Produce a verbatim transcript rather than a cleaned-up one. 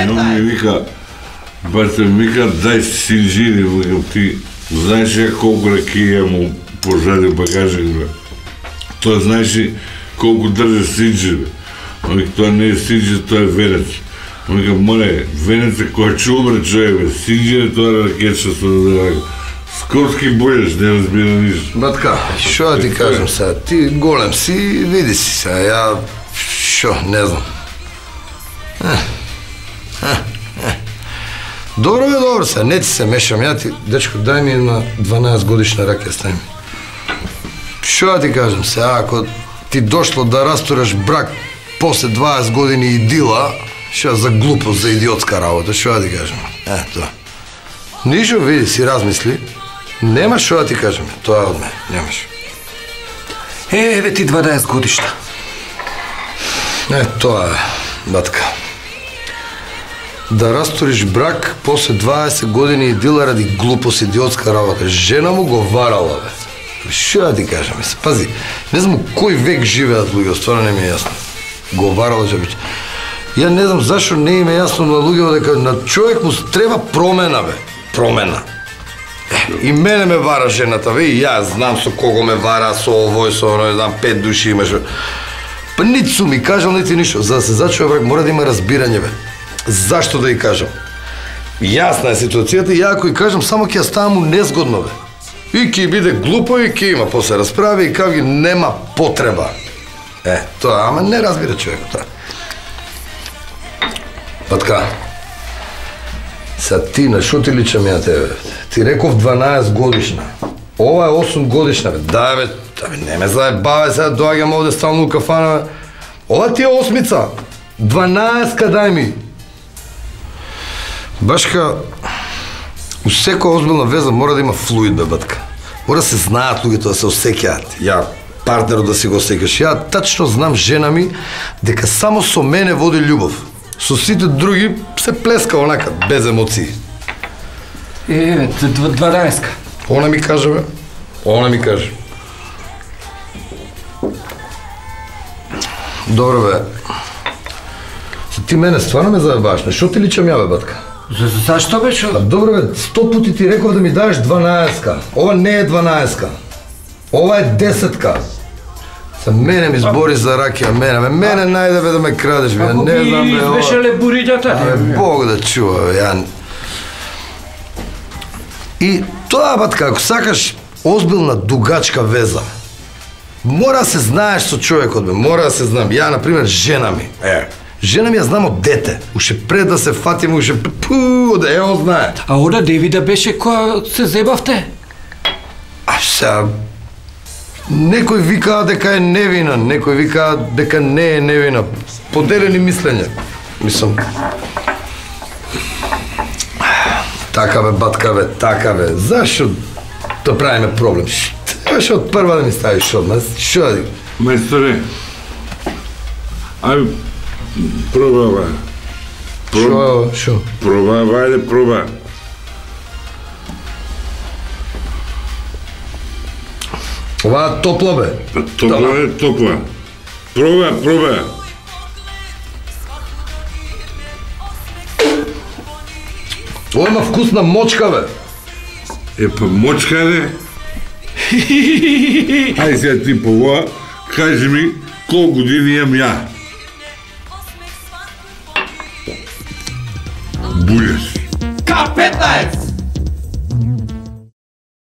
И он ми вика, бате ми вика, дай синџири, викам ти, знаеш ја колку ракија му пожади багажик, бе? Тоа знаеш ли колку држи синџири? Он вика, тоа не е синџир, тоа е венец. Он вика, море, венец е која ќе умре човек, бе, синџир е тоа ракетче со да скорски бојаш, не разбира ништо. Батка, шо да ти кажам сега, ти голем си, види си сега, ја, шо, не знам. Добро бе, добро сега, не ти се мешам, ја ти, дечко, дај ми една дванаесет годишна ракија, стај ми. Шо да ти кажам сега, ако ти дошло да растураш брак после дваесет години идила, шо за глупост, за идиотска работа, шо да ти кажам, е, тоа. Нишо, види си, размисли, нема шо да ти кажем, тоа е од мене, немаш. Е, еве ти дванаесет годишна. Е, тоа е, батка. Да растуриш брак после дваесет години идила ради глупост, идиотска работа. Жена му го варала, бе. Шо да ти кажем, пази, не знам кој век живеат луѓе, стварно не ми е јасно. Го варала жабич. Ја не знам зашо не им е јасно на луѓето дека на човек му треба промена, бе. Промена. Е, и мене ме вара жената, бе, и јас знам со кого ме вара, со овој, со оној, знам, пет души имаш. Па нити су ми кажал, нити ништо. За да се зачува брак, мора да има разбирање, бе. Зашто да ја кажам? Јасна е ситуацијата и ја ако ја кажам, само ќе ја ставам незгодно, бе. И ќе биде глупо и ќе има после расправи и као ги нема потреба. Е, тоа, ама не разбира човек тоа. Патка, са ти, на шо ти личам ја тебе? Ти реков дванаесет годишна. Ова е осум годишна, бе. Да, бе, да, бе, не ме заебаве, сега доаѓам овде стално у кафана. Ова ти е осмица. дванаесет дај ми. Башка, у секоја озбилна веза мора да има флуид, бе, батка. Мора да се знаат луѓето, да се осеќаат. Ја, партнерот да си го осеќаш. Ја тачно знам жена ми дека само со мене води љубов. Со сите други се плеска онака, без емоции. Е, дванаесет. Она ми каже, бе. Она ми каже. Добро, бе. Ти мене стварно ме заебаваш. Шо ти личам ја, бе, батка? За, зашто бе, шо? Добро, бе, сто пути ти реков да ми дадеш дванаесетка. Ова не е дванаесетка. Ова е десетка. За мене ми збори за ракија, мене, бе, мене најде, бе, да ме крадеш, бе, не знам, бе, ова... Ако би избешале бурињата, Абе, Бог да чува, бе, ја... И тоа, батка, ако сакаш озбилна, дугачка веза, мора да се знаеш со човекот, бе, мора да се знам. Ја, например, жена ми, е, жена ми ја знам од дете, уште пред да се фатиме, уште пу, да ја знае. А она Девида беше која се зебавте? А сега... Некој вика дека е невина, некој вика дека не е невина. Поделени мислења. Мислам... Така бе, батка бе, така бе. Зашо да правиме проблем? Трябаше од прва да ми ставиш одмah. Шо да... Мајсторе, ајде, проба, ба. Шо, шо? Проба, ба, ајде, проба. Ова топла, бе. Топла е, топла. Проба, проба. Ова има вкусна мочка, бе. Е, па мочка е. Ајде сега ти по ова, кажи ми колку години имам ја. Бујаш. Ка петнаесет!